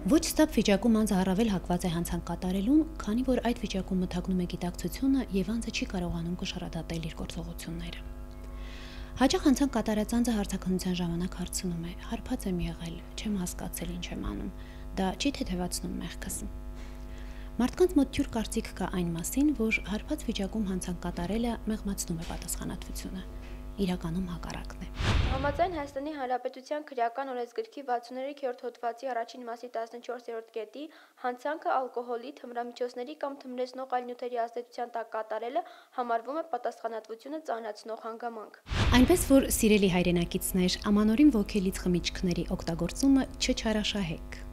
Ոչ ստապ վիճակում անձը առավել հակված է հանցանք կատարելուն, քանի որ այդ վիճակում մթագնում է գիտակցությունը եւ անձը չի կարողանում կշռադատել իր գործողությունները։ Հաճախ հանցանք կատարած անձը հարցաքննության ժամանակ հարցնում է. հարբած եմ եղել, չեմ հասկացել ինչ եմ անում, դա չի թեթևացնում մեղքս։ Մարդկանց մոտ թյուր կարծիք կա այն մասին, որ հարբած վիճակում հանցանք կատարելը մեղմացնում է պատասխանատվությունը։ Իրականում հակառակն է։ Համաձայն Հայաստանի Հանրապետության քրեական օրենսգրքի 63-րդ հոդվածի առաջին մասի 14-րդ կետի հանցանքը ալկոհոլի, թմրամիջոցների կամ թմրեցնող այլ նյութերի ազդեցության տակ կատարելը համարվում է պատասխանատվությունը ծանրացնող հանգամանք։ Այնպես որ, սիրելի հայրենակիցներ, ամանորին ոգելից խմիչքների օգտագործումը չչարաշահեք։